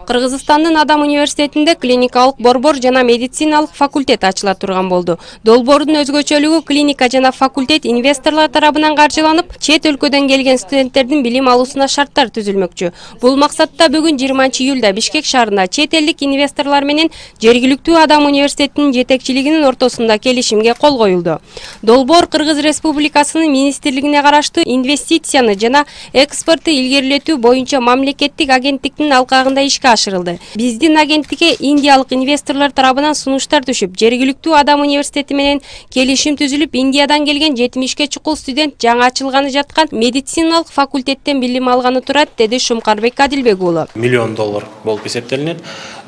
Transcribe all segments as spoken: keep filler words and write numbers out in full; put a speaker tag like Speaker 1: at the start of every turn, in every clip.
Speaker 1: Кыргызстандын Адам университетинде клиникалык борбор жана медициналык факультет ачыла турган болду. Долбоордун өзгөчөлүгү клиника жана факультет инвесторлор тарабынан каржыланып, чет өлкөдөн келген студенттердин билим алуусуна шарттар түзүлмөкчү. Бул максатта бүгүн жыйырманчы июлда Бишкек шаарында чет элдик инвесторлор менен жергиликтүү Адам университетинин жетекчилигинин ортосунда келишимге кол коюлду. Долбоор Кыргыз Республикасынын министрлигине караштуу инвестицияны жана экспортту илгерилетүү боюнча мамлекеттик агенттиктин алкагында ишке ашырылды. Биздин агенттикке индиялык инвесторлор тарабынан сунуштар түшүп, жергиликтүү Адам университети менен келишим түзүлүп, Индиядан келген жетимишке чукул студент жаңы ачылганы жаткан медициналык факультеттен билим алганы турат, деди Шумкарбек Адилбек уулу.
Speaker 2: Миллион доллар болуп эсептелинет.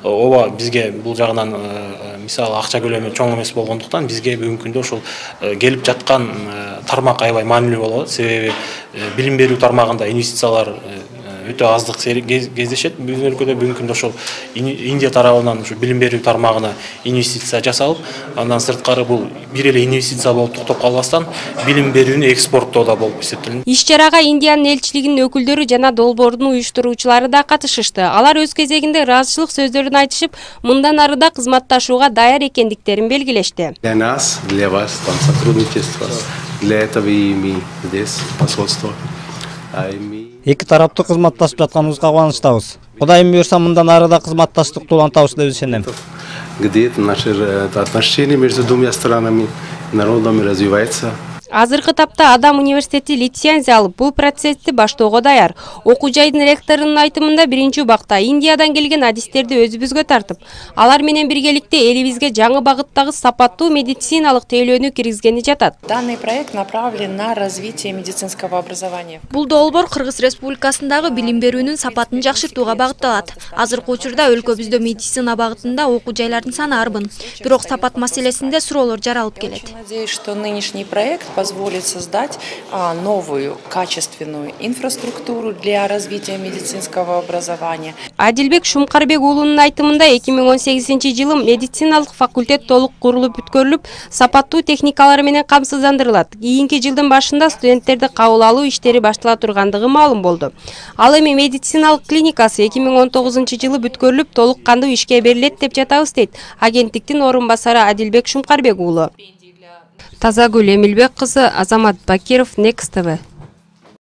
Speaker 2: Ооба бизге бул жагынан мисалы акча көлөмү чоң эмес болгондуктан бизге бүгүнкү күндө ушул келип жаткан тармак аябай маанилүү болот. Себеби билим берүү тармагында инвестициялар өтө аздык кездешет. Биздин өлкөдө бүгүнкү күндө ошол Индия тарабынан ушу билим берүү тармагына инвестиция жасалып, андан сырткары бул бир эле инвестиция болуп токтоп калбастан билим берүүнү экспорттоодо болуп эсептелинет.
Speaker 1: Иш-чарага Индиянын элчилигинин өкүлдөрү жана долбоордун уюштуруучулары да катышышты. Алар өз кезегинде ыраазычылык сөздөрүн айтышып, мындан ары да кызматташууга даяр экендиктерин белгилешти.
Speaker 3: Для нас, для вас, там сотрудничество, для этого и мы здесь посольство.
Speaker 4: Эки тараптуу кызматташып жатканыбызга кубанычтабыз. Кудайым буйрса, мындан ары да кызматташтыкты улантабыз деп ишенем.
Speaker 3: Где-то наши отношения между двумя странами, народами развиваются.
Speaker 1: Азыркы тапта Адам университети лицензия алып, бул процессти баштоого даяр. Окуу жайдын ректорунун айтымында биринчи убакта Индиядан келген адистерди өзүбүзгө тартып, алар менен биргеликте элибизге жаңы багыттагы сапаттуу медициналык тейлөөнү киргизгени жатат.
Speaker 5: Данный проект направлен на развитие медицинского образования.
Speaker 6: Бул долбоор Кыргыз Республикасындагы билим берүүнүн сапатын жакшыртууга багытталат. Азыркы учурда өлкөбүздө медицина багытында окуу жайлардын саны арбын, бирок сапат маселесинде суроолор жаралып келет.
Speaker 5: Надеюсь, что нынешний проект позволит создать а, новую качественную инфраструктуру для развития медицинского образования.
Speaker 1: Адилбек Шумкарбек уулунун айтымында эки миң он сегизинчи жылы медициналык факультет толук курулуп бүткөрүлүп, сапаттуу техникалар менен камсыздандырылат. Кийинки жылдын башында студенттерди кабыл алуу иштери баштала тургандыгы маалым болду. Ал эми медициналык клиникасы эки миң он тогузунчу жылы бүткөрүлүп, толук кандуу ишке берилет деп жатабыз, дейт агенттиктин орун басары Адилбек Шумкарбек уулу. Тазагүл Эмилбек кызы, Азамат Бакиров, Next тэ вэ.